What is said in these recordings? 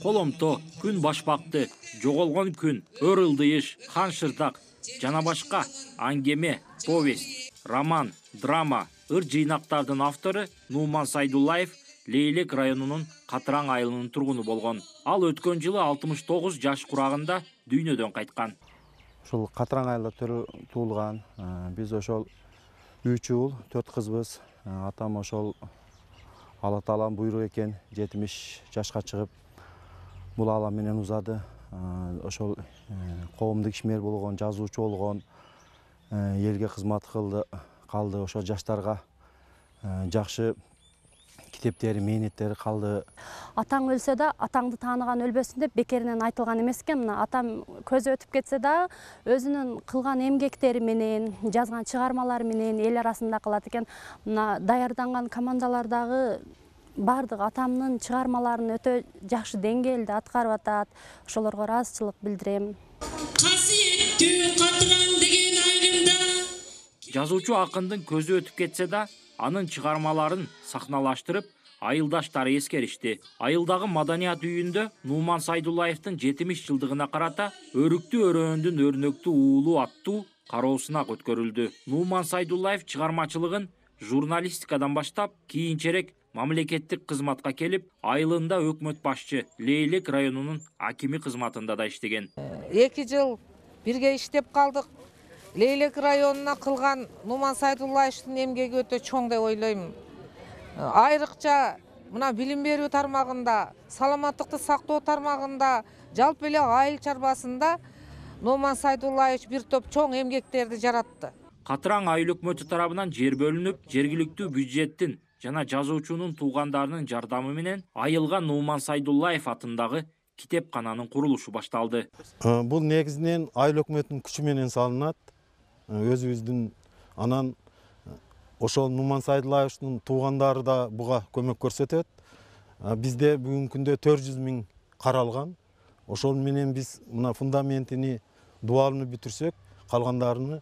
Коломто, күн башпакты, жоголгон күн, өр ылдыйыш, хан шырдак жана башка аңгеме, повесть, роман, драма, ыр жыйнактардын автору Нуман Сайдуллаев Лейлек районунун Катыраң айылынын тургуну болгон. Ал өткөн жылы 69 жаш курагында дүйнөдөн кайткан. Ошол Катыраң айылда туулган. Биз ошол 3 уул, 4 кызбыз. Атам ошол Алла Тааланын буйругу экен, 70 жашка чыгып, бул алам менен узады. Ошол коомдук ишмер болгон, жазуучу болгон, элге кызмат калды. Ошол жаштарга жакшы китептери, мээнеттери калды. Атаң өлсө да, атаңды тааныган өлбөсүн деп бекеринен айтылган эмес экен. Мына атам көзү өтүп кетсе да, өзүнүн кылган эмгектери менен, жазган чыгармалары менен эл арасында калат экен. Мына даярданган командалардагы бардык атамдын чыгармаларын өтө жакшы деңгээлде аткарып атат. Ошолорго ыраазычылык билдирем. Касиеттүү Катыраң деген айылымда жазуучу акындын көзү өтүп кетсе да, анын чыгармаларын сахналаштырып, айылдаштары эскеришти. Айылдагы маданият үйүндө Нуман Сайдуллаевдин 70 жылдыгына карата Өрүктүү өрөөндүн өрнөктүү уулу аттуу кароосунак өткөрүлдү. Нуман Сайдуллаев чыгармачылыгын журналистикадан баштап, кийинчерээк мамлекеттик кызматка келип, айылында өкмөт башчы Лейлек районунун акими кызматында да иштеген. 2 жыл бирге иштеп калдык. Лейлек районуна кылган Нуман Сайдуллаевдин эмгеги өтө чоң деп ойлойм. Айрыкча мына билим берүү тармагында, саламаттыкты сактоо тармагында, жалпы эле айыл чарбасында Нуман Сайдуллаевич бир топ чоң эмгектерди жаратты. Катыраң айыл өкмөтү тарабынан жер бөлүнүп, жергиликтүү бюджеттин жана жазуучунун туугандарынын жардамы менен айылга Нуман Сайдуллаев атындагы китепкананын курулушу башталды. Бул негизинен айыл өкмөтүнүн күчү менен салынат. Өзүбүздүн анан ошол Нуман Сайдуллаевдин туугандары да буга көмөк көрсөтөт. Бизде бүгүнкү күндө 400 000 каралган. Ошол менен биз мына фундаментини, дубалын бүтүрсөк, калгандарыны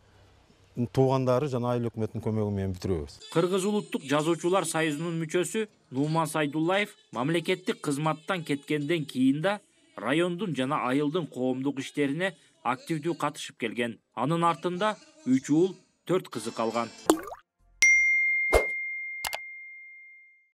туугандары жана айыл өкмөтүнүн көмөгү менен бүтүрөбүз. Кыргыз улуттук жазуучулар союзунун мүчөсү Нуман Сайдуллаев мамлекеттик кызматтан кеткенден кийин да райондун жана айылдын коомдук иштерине активдүү катышып келген. Анын артында 3 уул, 4 кызы калган.